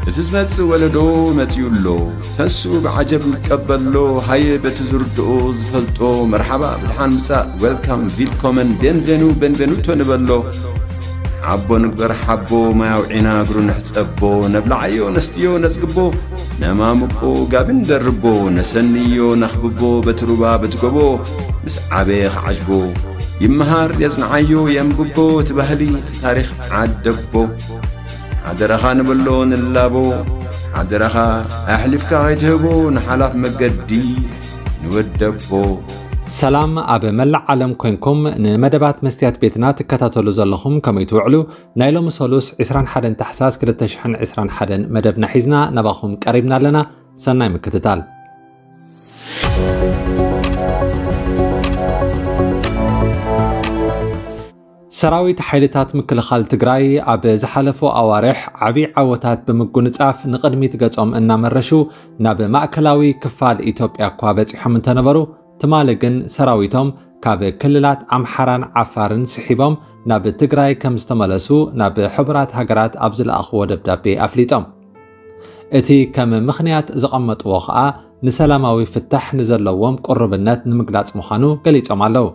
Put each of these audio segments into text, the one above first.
እቲ ዝመጽእ ወለዶ መጺኡ ኣሎ። ተስኡ ብዓጀብ ይቀበሎ። ሃየ በቲ ዝርድኦ ዝፈልጦ መርሓባ ብድሓን ምጻእ፣ ዌልካም፣ ቪልኮመን፣ ቤንቬኑ፣ ቤንቬኑቶ ንበሎ። ዓቦ ንግበር ሓቦ፣ ማይ ኣውዒና እግሩ ንሕጸቦ። ነብልዓዮ ነስትዮ ነጽግቦ፣ ነማሙቆ ጋቢ ንደርቦ። ነሰንዮ ነኽብቦ በቲ ሩባ በቲ ጎቦ። ምስ ዓበየ ክዓጅቦ ይመሃር የጽንዓዮ የንብቦ። እቲ ባህሊ እቲ ታሪኽ ዓደቦ። ሓደራኻ ንብሎ ንላቦ። ሓደራኻ ኣሕሊፍካ ከይትህቦ ንሓላፍ መገዲ ንወደቦ። ሰላም ኣብ መላእ ዓለም ኮንኩም ንመደባት መስትያት ቤትና ትከታተሉ ዘለኹም ከመይ ትውዕሉ? ናይ ሎሚ ሰሉስ ዕስራን ሓደን ታሕሳስ ክልተ ሽሕን ዕስራን ሓደን መደብና ሒዝና ናባኹም ቀሪብና ኣለና። ሰናይ ምክትታል። ሰራዊት ሓይልታት ምክልኻል ትግራይ ኣብ ዝሓለፉ ኣዋርሕ ዓብዪ ዓወታት ብምጉንጻፍ ንቕድሚት ገጾም እናመረሹ ናብ ማእከላዊ ክፋል ኢትዮጵያ እኳ በጺሖም እንተነበሩ፣ ትማሊ ግን ሰራዊቶም ካብ ክልላት ኣምሓራን ዓፋርን ስሒቦም ናብ ትግራይ ከም ዝተመለሱ ናብ ሕቡራት ሃገራት ኣብ ዝለኣኽዎ ደብዳቤ ኣፍሊጦም። እቲ ከም ምኽንያት ዘቐመጥዎ ኸኣ ንሰላማዊ ፍታሕ ንዘለዎም ቅሩብነት ንምግላጽ ምዃኑ ገሊጾም ኣለዉ።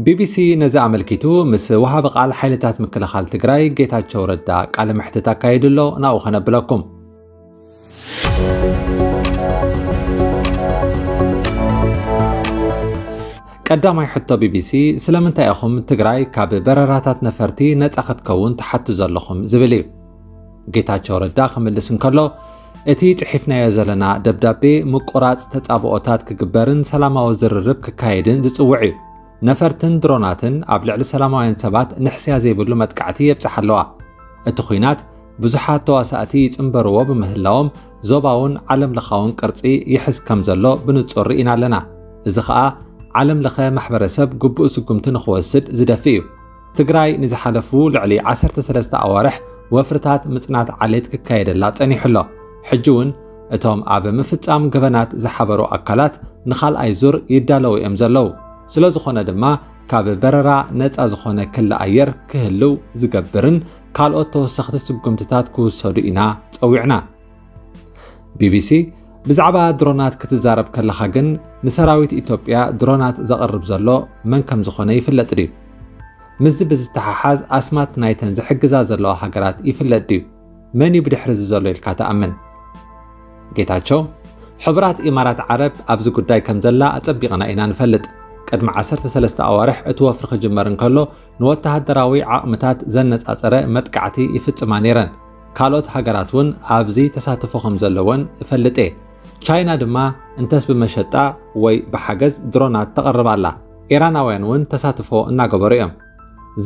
ቢቢሲ ነዚ ኣመልኪቱ ምስ ወሃቢ ቃል ሓይልታት ምክልኻል ትግራይ ጌታቸው ረዳ ቃለ መሕትት ኣካይዱ ኣሎ፣ ናብኡ ከነብለኩም። ቀዳማይ ሕቶ ቢቢሲ፣ ስለምንታይ ኢኹም ትግራይ ካብ በረራታት ነፈርቲ ነጻ ክትከውን ትሓቱ ዘለኹም ዝብል እዩ። ጌታቸው ረዳ ክምልስ እንከሎ፣ እቲ ጽሒፍናዮ ዘለና ደብዳቤ ምቁራጽ ተጻብኦታት ክግበርን ሰላማዊ ዝርርብ ክካየድን ዝጽውዕ እዩ። ነፈርትን ድሮናትን ኣብ ልዕሊ ሰላማውያን ሰባት ንሕስያ ዘይብሉ መጥቃዕቲ የብጽሓ ኣለዋ። እቲ ኲናት ብዙሓት ተዋሳእቲ ይጽንበርዎ ብምህላዎም፣ ዞባውን ዓለም ለኻውን ቅርጺ ይሕዝ ከም ዘሎ ብንጹር ርኢና ኣለና። እዚ ኸኣ ዓለም ለኸ ማሕበረሰብ ግቡእ ስጉምቲ ንኽወስድ ዝደፍእ እዩ። ትግራይ ንዝሓለፉ ልዕሊ ዓሰርተ ሰለስተ ኣዋርሕ ወፍርታት ምጽናት ዓሌት ክካየደላ ጸኒሑ ኣሎ። ሕጂ እውን እቶም ኣብ ምፍጻም ገበናት ዝሓበሩ ኣካላት ንኻልኣይ ዙር ይዳለዉ እዮም ዘለዉ። ስለ ዝኾነ ድማ ካብ በረራ ነጻ ዝኾነ ክሊ ኣየር ክህልው ዝገብርን ካልኦት ተወሰኽቲ ስጉምትታት ክውሰዱ ኢና ጸዊዕና። ቢቢሲ፣ ብዛዕባ ድሮናት ክትዛረብ ከለኻ ግን ንሰራዊት ኢትዮጵያ ድሮናት ዘቕርብ ዘሎ መን ከም ዝኾነ ይፍለጥ ድዩ? ምስዚ ብዝተሓሓዝ ኣስማት ናይተን ዝሕግዛ ዘለዋ ሃገራት ይፍለጥ ድዩ? መን እዩ ብድሕሪ እዚ ዘሎ ኢልካ ትኣምን? ጌታቸው፣ ሕቡራት ኢማራት ዓረብ ኣብዚ ጉዳይ ከም ዘላ ኣጸቢቕና ኢና ንፈልጥ። ቅድሚ ዓሰርተ ሰለስተ ኣዋርሕ እቲ ወፍሪ ክጅመር እንከሎ ንወተሃደራዊ ዓቕምታት ዘነጻጸረ መጥቃዕቲ ይፍጽማ ነይረን። ካልኦት ሃገራት እውን ኣብዚ ተሳትፎ ከም ዘለወን እፈልጥ እየ። ቻይና ድማ እንተስ ብመሸጣ ወይ ብሓገዝ ድሮናት ተቕርብ ኣላ። ኢራናውያን እውን ተሳትፎ እናገበሩ እዮም።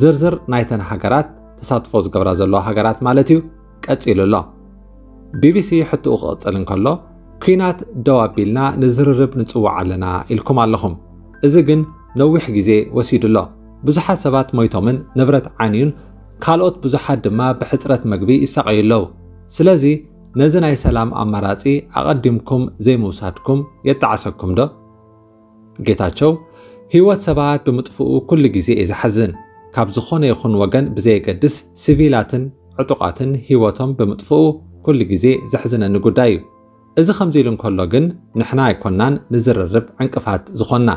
ዝርዝር ናይተን ሃገራት፣ ተሳትፎ ዝገብራ ዘለዋ ሃገራት ማለት እዩ፣ ቀጺሉ ኣሎ። ቢቢሲ ሕትኡ ክቕጽል እንከሎ፣ ኲናት ደው ኣቢልና ንዝርርብ ንጽውዕ ኣለና ኢልኩም ኣለኹም። እዚ ግን ነዊሕ ግዜ ወሲዱ ኣሎ። ብዙሓት ሰባት ሞይቶምን ንብረት ዓንዩን ካልኦት ብዙሓት ድማ ብሕጽረት መግቢ ይሳቐዩ ኣለዉ። ስለዚ ነዚ ናይ ሰላም ኣማራጺ ኣቐዲምኩም ዘይምውሳድኩም የጣዕሰኩም ዶ? ጌታቸው፣ ህይወት ሰባት ብምጥፍኡ ኩሉ ግዜ እየ ዝሓዝን። ካብ ዝኾነ ይኹን ወገን ብዘየገድስ ሲቪላትን ዕጡቓትን ህይወቶም ብምጥፍኡ ኩሉ ግዜ ዘሕዝነኒ ጉዳይ እዩ። እዚ ከምዚ ኢሉ እንከሎ ግን ንሕና ኣይኮናን ንዝርርብ ዕንቅፋት ዝኾንና።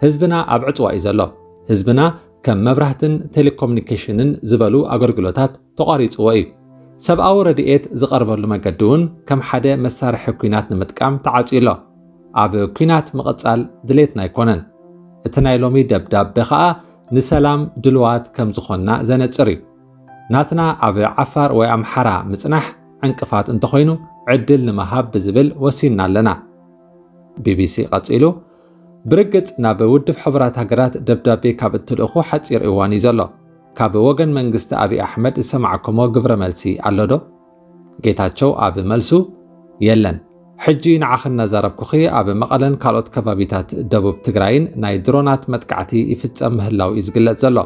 ህዝብና ኣብ ዕጽዋ እዩ ዘሎ። ህዝብና ከም መብራህትን ቴሌኮሙኒኬሽንን ዝበሉ ኣገልግሎታት ተቋሪጽዎ እዩ። ሰብኣዊ ረድኤት ዝቐርበሉ መገዲ እውን ከም ሓደ መሳርሒ ኲናት ንምጥቃም ተዓጽዩ ኣሎ። ኣብ ኲናት ምቕጻል ድሌትና ኣይኮነን። እቲ ናይ ሎሚ ደብዳቤ ኸኣ ንሰላም ድልዋት ከም ዝኾንና ዘነጽር እዩ። ናትና ኣብ ዓፋር ወይ ኣምሓራ ምጽናሕ ዕንቅፋት እንተኾይኑ ዕድል ንምሃብ ብዝብል ወሲንና ኣለና። ቢቢሲ ቀጺሉ፣ ብርግጽ ናብ ውድብ ሕቡራት ሃገራት ደብዳቤ ካብ እትልእኹ ሓጺር እዋን እዩ ዘሎ። ካብ ወገን መንግስቲ ኣብይ ኣሕመድ ዝሰማዕኩሞ ግብረ መልሲ ኣሎ ዶ? ጌታቸው ኣብ መልሱ፣ የለን። ሕጂ ንዓኺ እናዛረብኩኺ ኣብ መቐለን ካልኦት ከባቢታት ደቡብ ትግራይን ናይ ድሮናት መጥቃዕቲ ይፍጸም ምህላው እዩ ዝግለጽ ዘሎ።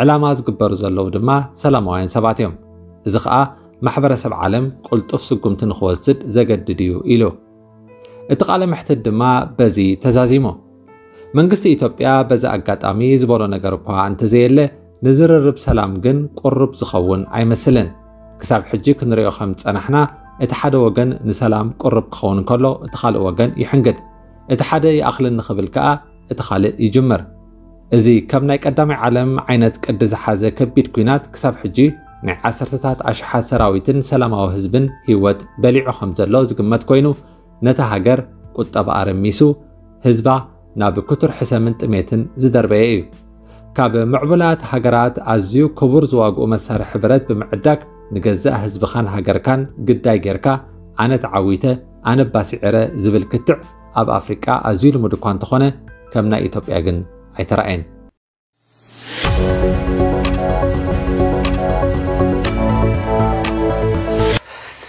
ዕላማ ዝግበሩ ዘለዉ ድማ ሰላማውያን ሰባት እዮም። እዚ ኸኣ ማሕበረሰብ ዓለም ቅልጡፍ ስጉምቲ ንኽወስድ ዘገድድ እዩ ኢሉ። እቲ ቃለ መሕትት ድማ በዚ ተዛዚሙ። መንግስቲ ኢትዮጵያ በዚ ኣጋጣሚ ዝበሎ ነገር እኳ እንተዘየለ፣ ንዝርርብ ሰላም ግን ቅሩብ ዝኸውን ኣይመስልን። ክሳብ ሕጂ ክንሪኦ ከም ዝጸናሕና፣ እቲ ሓደ ወገን ንሰላም ቅሩብ ክኸውን እንከሎ፣ እቲ ካልእ ወገን ይሕንግድ። እቲ ሓደ ይኣኽለኒ ክብል ከኣ፣ እቲ ካልእ ይጅምር። እዚ ከም ናይ ቀዳማይ ዓለም ዓይነት ቅዲ ዝሓዘ ከቢድ ኲናት ክሳብ ሕጂ ናይ ዓሰርተታት ኣሽሓት ሰራዊትን ሰላማዊ ህዝብን ህይወት በሊዑ ከም ዘሎ ዝግመት ኮይኑ፣ ነታ ሃገር ቁጠባኣ ረሚሱ፣ ህዝባ ናብ ክቱር ሕሰምን ጥሜትን ዝደርበየ እዩ። ካብ ምዕቡላት ሃገራት ኣዝዩ ክቡር ዝዋግኡ መሳርሒ ብረት ብምዕዳግ፣ ንገዛእ ህዝብኻን ሃገርካን ግዳይ ጌርካ፣ ኣነ ተዓዊተ፣ ኣነ ባሲዕረ ዝብል ክትዕ ኣብ ኣፍሪቃ ኣዝዩ ልሙድ እኳ እንተኾነ፣ ከም ናይ ኢትዮጵያ ግን ኣይተራእየን።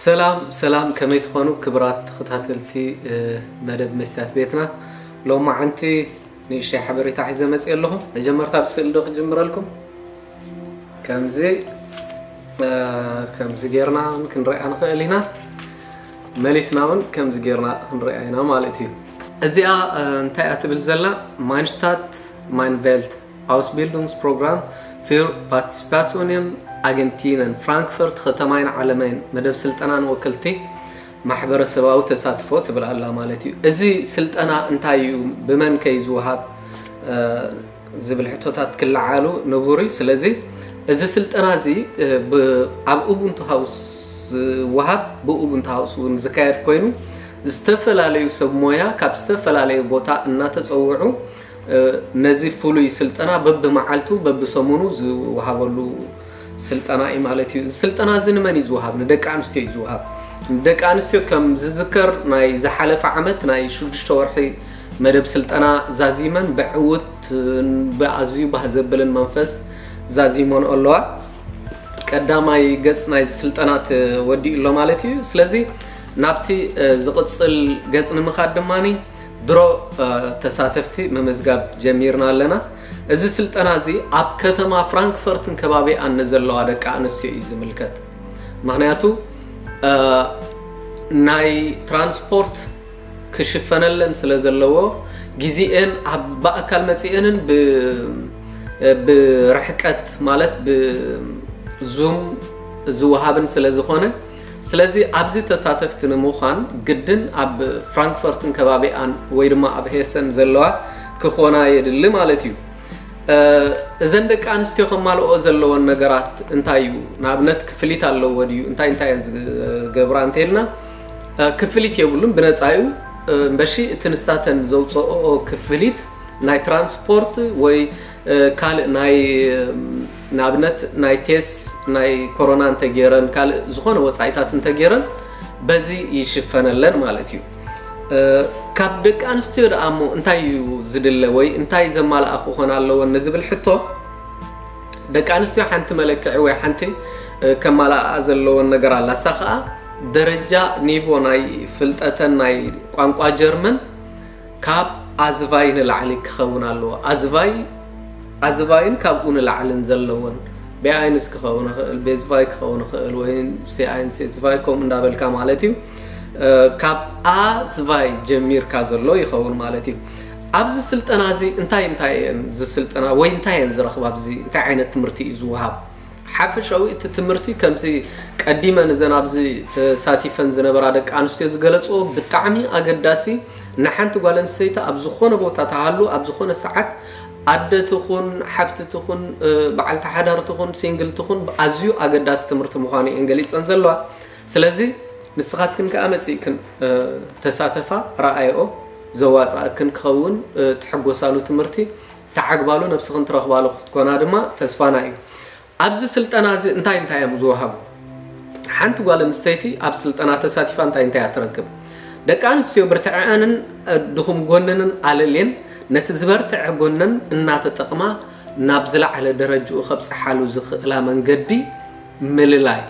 ሰላም ሰላም፣ ከመይ ትኾኑ ክብራት ተኸታተልቲ፣ እ፣ መደብ መስትያት ቤትና? ሎማዓንቲ ንእሽተይ ሓበሬታ ሒዘ መፅእ ኣለኹ። መጀመርታ ብስእሊ ዶ ክጅምረልኩም? ከምዚ፣ እ፣ ከምዚ ጌርና እውን ክንሪኣ ንኽእል ኢና። መሊስና እውን ከምዚ ጌርና ክንሪኣ ኢና ማለት እዩ። እዚኣ፣ እ፣ እንታይ እያ ትብል ዘላ? ማይንሽታት ማይንቬልት ኣውስቢልዱንግስ ፕሮግራም ፊር ፓርቲሲፓሲዮንን ኣገንቲነን ፍራንክፈርት ከተማይን ዓለመይን መደብ ስልጠናን ወክልቲ ማሕበረሰባዊ ተሳትፎ ትብል ኣላ ማለት እዩ። እዚ ስልጠና እንታይ እዩ? ብመን ከ እዩ ዝወሃብ? እ፣ ዝብል ሕቶታት ክለዓሉ ንቡር እዩ። ስለዚ እዚ ስልጠና እዚ፣ እ፣ ብ-፣ ኣብ ኡቡንቱ ሃውስ ዝወሃብ፣ ብኡቡንቱ ሃውስ እውን ዝካየድ ኮይኑ፣ ዝተፈላለዩ ሰብ ሞያ ካብ ዝተፈላለዩ ቦታ እናተፀውዑ፣ እ፣ ነዚ ፍሉይ ስልጠና በብመዓልቱ በብሰሙኑ ዝወሃበሉ ስልጠና እዩ ማለት እዩ። እዚ ስልጠና እዚ ንመን እዩ ዝወሃብ? ንደቂ ኣንስትዮ እዩ ዝወሃብ። ንደቂ ኣንስትዮ ከም ዝዝከር ናይ ዝሓለፈ ዓመት ናይ ሽዱሽተ ወርሒ መደብ ስልጠና ዛዚመን ብዕውት ብኣዝዩ ባህ ዘብልን መንፈስ ዛዚሞን ኣለዋ። ቀዳማይ ገጽ ናይዚ ስልጠና ተወዲኡ ኣሎ ማለት እዩ። ስለዚ ናብቲ፣ እ፣ ዝቕጽል ገጽ ንምኻድ ድማኒ ድሮ፣ እ፣ ተሳተፍቲ ምምዝጋብ ጀሚርና ኣለና። እዚ ስልጠና እዚ ኣብ ከተማ ፍራንክፈርትን ከባቢኣን ንዘለዋ ደቂ ኣንስትዮ እዩ ዝምልከት። ምኽንያቱ፣ እ፣ ናይ ትራንስፖርት ክሽፈነለን ስለ ዘለዎ፣ ግዜኤን ኣብ ብኣካል መጺኤንን ብ-፣ ብርሕቀት ማለት ብዙም ዝወሃብን ስለ ዝኾነ፣ ስለዚ ኣብዚ ተሳተፍቲ ንምዃን ግድን ኣብ ፍራንክፈርትን ከባቢኣን ወይ ድማ ኣብ ሄሰን ዘለዋ ክኾና የድሊ ማለት እዩ። እ፣ እዘን ደቂ ኣንስትዮ ከማልኦ ዘለወን ነገራት እንታይ እዩ? ንኣብነት ክፍሊት ኣለዎ ድዩ? እንታይ እንታይ እየን ዝገብራ እንተኢልና፣ እ፣ ክፍሊት የብሉን፣ ብነጻ እዩ። እ፣ እምበሺ እቲ ንሳተን ዘውፅኦኦ ክፍሊት ናይ ትራንስፖርት ወይ፣ እ፣ ካልእ ናይ፣ እም፣ ንኣብነት ናይ ቴስ ናይ ኮሮና እንተገይረን ካልእ ዝኾነ ወፃኢታት እንተገይረን በዚ ይሽፈነለን ማለት እዩ። እ፣ ካብ ደቂ ኣንስትዮ ደኣ እሞ እንታይ እዩ ዝድለ ወይ እንታይ ዘማልኣ ክኾን ኣለወን ንዝብል ሕቶ፣ ደቂ ኣንስትዮ ሓንቲ መለክዒ ወይ ሓንቲ፣ እ፣ ከማልኣ ዘለወን ነገር ኣላ። እሳ ኸኣ ደረጃ ኒቮ ናይ ፍልጠተን ናይ ቋንቋ ጀርመን ካብ ኣዝቫይ ንላዕሊ ክኸውን ኣለዎ። ኣዝቫይ፣ ኣዝቫይን ካብኡ ንላዕልን ዘለወን፣ ቢ ኣይንስ ክኸውን ይኽእል፣ ቤዝቫይ ክኸውን ይኽእል፣ ወይ ሲ ኣይን ሴዝቫይ ከምኡ እንዳበልካ ማለት እዩ። እ፣ ካብ ኣዝቫይ ጀሚርካ ዘሎ ይኸውን ማለት እዩ። ኣብዚ ስልጠና እዚ እንታይ እንታይ እየን ዝስልጠና ወይ እንታይ እየን ዝረኽባ? ኣብዚ እንታይ ዓይነት ትምህርቲ እዩ ዝወሃብ? ሓፈሻዊ እቲ ትምህርቲ ከምዚ ቀዲመን እዘን ኣብዚ ተሳቲፈን ዝነበራ ደቂ ኣንስትዮ ዝገለጽኦ ብጣዕሚ ኣገዳሲ፣ ንሓንቲ ጓል ኣንስተይቲ ኣብ ዝኾነ ቦታ ተሃሉ፣ ኣብ ዝኾነ ሰዓት ኣደ ትኹን፣ ሓብቲ ትኹን፣ እ፣ በዓልቲ ሓዳር ትኹን፣ ሲንግል ትኹን፣ ኣዝዩ ኣገዳሲ ትምህርቲ ምዃኑ እየን ገሊጸን ዘለዋ። ስለዚ ንስኻትክን ከኣ መጺእክን፣ እ፣ ተሳተፋ፣ ረኣይኦ፣ ዘዋጽኣክን ክኸውን፣ እ፣ ትሕጎሳሉ ትምህርቲ፣ ተዓግባሉ ነብስኽን ትረኽባሉ ክትኮና ድማ ተስፋና እዩ። ኣብዚ ስልጠና እዚ እንታይ እንታይ እዮም ዝወሃቡ? ሓንቲ ጓል ኣንስተይቲ ኣብ ስልጠና ተሳቲፋ እንታይ እንታይ እያ ትረክብ? ደቂ ኣንስትዮ ብርትዐአንን፣ እ፣ ድኹም ጎነንን ኣለልየን ነቲ ዝበርትዐ ጎነን እናተጠቕማ ናብ ዝለዓለ ደረጅኡ ከብጽሓሉ ዝኽእላ መንገዲ ምልላይ።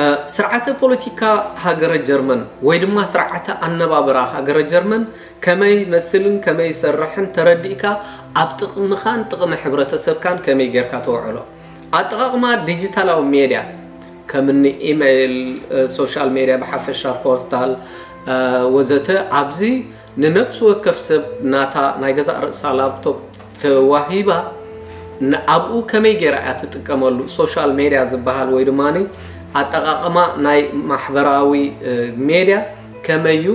እ፣ ስርዓተ ፖለቲካ ሃገረ ጀርመን ወይ ድማ ስርዓተ ኣነባብራ ሃገረ ጀርመን ከመይ ይመስልን ከመይ ይሰርሕን ተረዲእካ ኣብ ጥቕምኻን ጥቕሚ ሕብረተሰብካን ከመይ ጌርካ ተውዕሎ። ኣጠቓቕማ ዲጂታላዊ ሜድያ ከም እኒ ኢሜይል፣ እ፣ ሶሻል ሜድያ ብሓፈሻ፣ ፖርታል፣ እ፣ ወዘተ ኣብዚ ንነፍሲ ወከፍ ሰብ ናታ ናይ ገዛእ ርእሳ ላፕቶፕ ተዋሂባ፣ ንኣብኡ ከመይ ገይራ እያ ትጥቀመሉ? ሶሻል ሜድያ ዝበሃል ወይ ድማ ኣጠቓቕማ ናይ ማሕበራዊ ሜድያ ከመዩ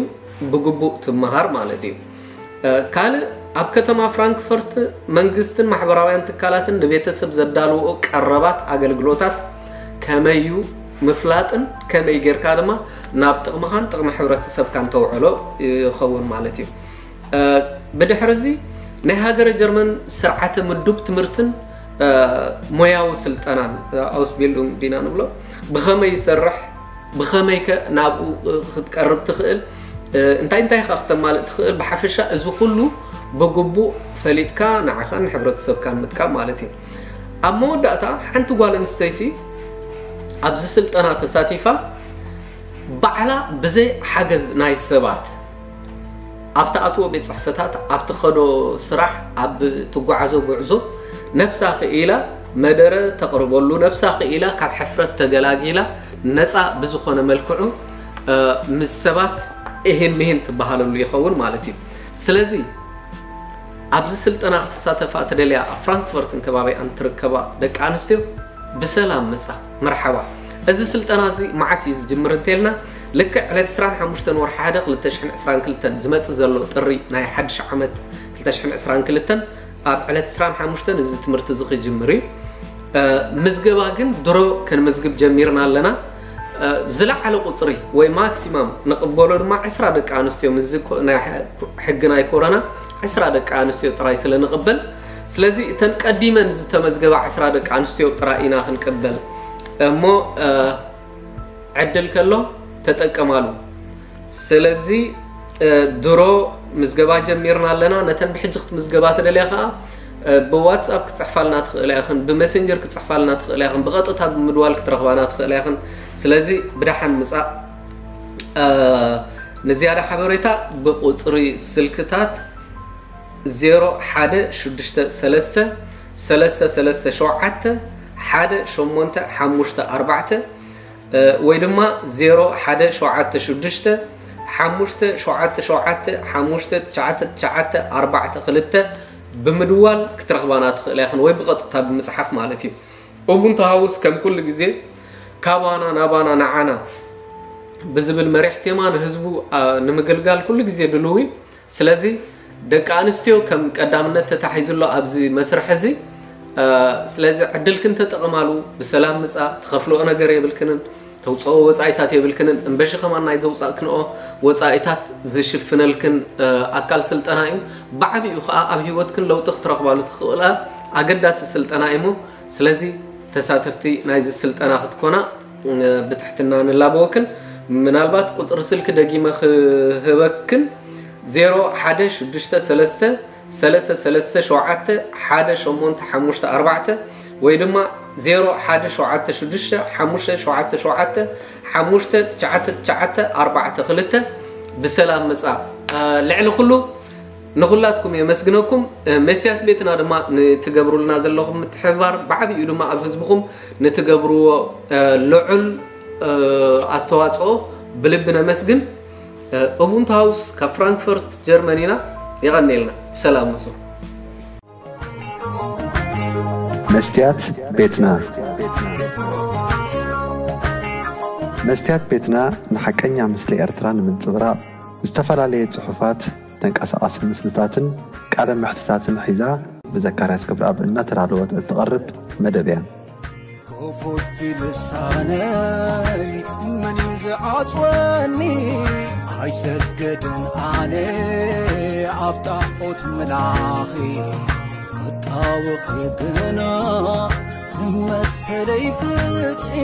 ብግቡእ ትመሃር ማለት እዩ። ካልእ ኣብ ከተማ ፍራንክፈርት መንግስትን ማሕበራውያን ትካላትን ንቤተሰብ ዘዳልዎ ቀረባት ኣገልግሎታት ከመዩ ምፍላጥን ከመይ ጌርካ ድማ ናብ ጥቕምኻን ጥቕሚ ሕብረተሰብካን ተውዕሎ ይኸውን ማለት እዩ። ብድሕርዚ ናይ ሃገረ ጀርመን ስርዓተ ምዱብ ትምህርትን ሞያዊ ስልጠናን ኣውስቢልዱንግ ዲና ንብሎ ብኸመይ ይሰርሕ፣ ብኸመይከ ናብኡ ክትቀርብ ትኽእል፣ እንታይ እንታይ ኸ ክተማልእ ትኽእል፣ ብሓፈሻ እዚ ኩሉ ብግቡእ ፈሊጥካ ንዓኻን ንሕብረተሰብካን ምጥቃም ማለት እዩ። ኣብ መወዳእታ ሓንቲ ጓል ኣንስተይቲ ኣብዚ ስልጠና ተሳቲፋ ባዕላ ብዘይ ሓገዝ ናይ ሰባት ኣብ ትኣትዎ ቤት ጽሕፈታት፣ ኣብ ትኸዶ ስራሕ፣ ኣብ ትጓዓዞ ጉዕዞ ነብሳ ክኢላ መደረ ተቕርበሉ፣ ነብሳ ክኢላ ካብ ሕፍረት ተገላጊላ ነፃ ብዝኾነ መልክዑ ምስ ሰባት እህን ምህን ትበሃለሉ ይኸውን ማለት እዩ። ስለዚ ኣብዚ ስልጠና ክትሳተፋ ትደልያ ኣብ ፍራንክፈርትን ከባቢኣን ትርከባ ደቂ ኣንስትዮ ብሰላም መጻ። መርሓባ። እዚ ስልጠና እዚ መዓስ እዩ ዝጅምር እንተልና፣ ልክዕ ዕለት ዕስራን ሓሙሽተን ወርሒ ሓደ ክልተ ሽሕን ዕስራን ክልተን ዝመጽእ ዘሎ ጥሪ ናይ ሓድሽ ዓመት ክልተ ሽሕን ዕስራን ክልተን ኣብ ዕለት ዕስራን ሓሙሽተን እዚ ትምህርቲ እዚ ክጅምር እዩ። ምዝገባ ግን ድሮ ክንምዝግብ ጀሚርና ኣለና። ዝለዓለ ቁፅሪ ወይ ማክሲማም ንቕበሎ ድማ ዕስራ ደቂ ኣንስትዮ፣ ምስዚ ናይ ሕጊ ናይ ኮሮና ዕስራ ደቂ ኣንስትዮ ጥራይ ስለ ንቕበል፣ ስለዚ እተን ቀዲመን ዝተመዝገባ ዕስራ ደቂ ኣንስትዮ ጥራይ ኢና ክንቅበል። እሞ ዕድል ከሎ ተጠቀማሉ። ስለዚ ድሮ ምዝገባ ጀሚርና ኣለና። ነተን ብሕጂ ክትምዝገባ ትደልያ ከዓ ብዋትስኣፕ ክትፅሕፋልና ትኽእላ ኢኽን፣ ብመሰንጀር ክትፅሕፋልና ትኽእላ ኢኽን፣ ብቐጥታ ብምድዋል ክትረኽባና ትኽእላ ኢኽን። ስለዚ ብደሓን ምፃእ። ንዝያዳ ሓበሬታ ብቁፅሪ ስልክታት ዜሮ ሓደ ሽዱሽተ ሰለስተ ሰለስተ ሰለስተ ሸውዓተ ሓደ ሸሞንተ ሓሙሽተ ኣርባዕተ ወይ ድማ ዜሮ ሓደ ሸውዓተ ሽዱሽተ ሓሙሽተ ሸውዓተ ሸውዓተ ሓሙሽተ ትሽዓተ ትሽዓተ ኣርባዕተ ክልተ ብምድዋል ክትረኽባና ትኽእላ ኢኽን፣ ወይ ብቐጥታ ብምፅሓፍ ማለት እዩ። ኡቡንቱ ሃውስ ከም ኩሉ ግዜ ካባና ናባና ንዓና ብዝብል መሪሕ ቴማ ንህዝቡ ንምግልጋል ኩሉ ግዜ ድልው እዩ። ስለዚ ደቂ ኣንስትዮ ከም ቀዳምነት ተታሒዙ ኣሎ ኣብዚ መስርሕ እዚ። ስለዚ ዕድልክን ተጠቐማሉ። ብሰላም ምፃ። ትኸፍልኦ ነገር የብልክንን፣ ተውፅኦ ወፃኢታት የብልክንን። እምበሺ ከማን ናይ ዘውፃእክንኦ ወፃኢታት ዝሽፍነልክን ኣካል ስልጠና እዩ። ብዓብኡ ከዓ ኣብ ህይወትክን ለውጢ ክትረኽባሉ ትኽእላ ኣገዳሲ ስልጠና እዩ። እሞ ስለዚ ተሳተፍቲ ናይዚ ስልጠና ክትኮና ብትሕትና ንላበወክን። ምናልባት ቁፅሪ ስልኪ ደጊመ ክህበክን፣ ዜሮ ሓደ ሽዱሽተ ሰለስተ ሰለስተ ሰለስተ ሸውዓተ ሓደ ሸሞንተ ሓሙሽተ ኣርባዕተ ወይ ድማ ዜሮ ሓደ ሸውዓተ ሽዱሽተ ሓሙሽተ ሸውዓተ ሸውዓተ ሓሙሽተ ትሽዓተ ትሽዓተ ኣርባዕተ ክልተ። ብሰላም ምፃ። ልዕሊ ኩሉ ንኹላትኩም የመስግነኩም። መስትያት ቤትና ድማ ንትገብሩልና ዘለኹም ምትሕብባር፣ ብዓብኡ ድማ ኣብ ህዝብኹም ንትገብርዎ ልዑል ኣስተዋፅኦ ብልቢ ነመስግን። ኡቡንቱ ሃውስ ካብ ፍራንክፈርት ጀርመን ኢና። የቐንየልና። ብሰላም ምፁ። መስትያት ቤትና። መስትያት ቤትና ንሓቀኛ ምስሊ ኤርትራ ንምንጽብራቕ ዝተፈላለየ ጽሑፋት፣ ተንቀሳቓሲ ምስልታትን ቃለ መሕትታትን ሒዛ ብዘካርያስ ክብረኣብ እናተዳለወት እትቐርብ መደብ እያ። ክፉት ልሳነይ መን እዩ ዝዓጽወኒ? ኣይሰግድን ኣነ ኣብ ጣዖት ምላኺ፣ ክጣወኺ ግና መሰለይ ፍትሒ።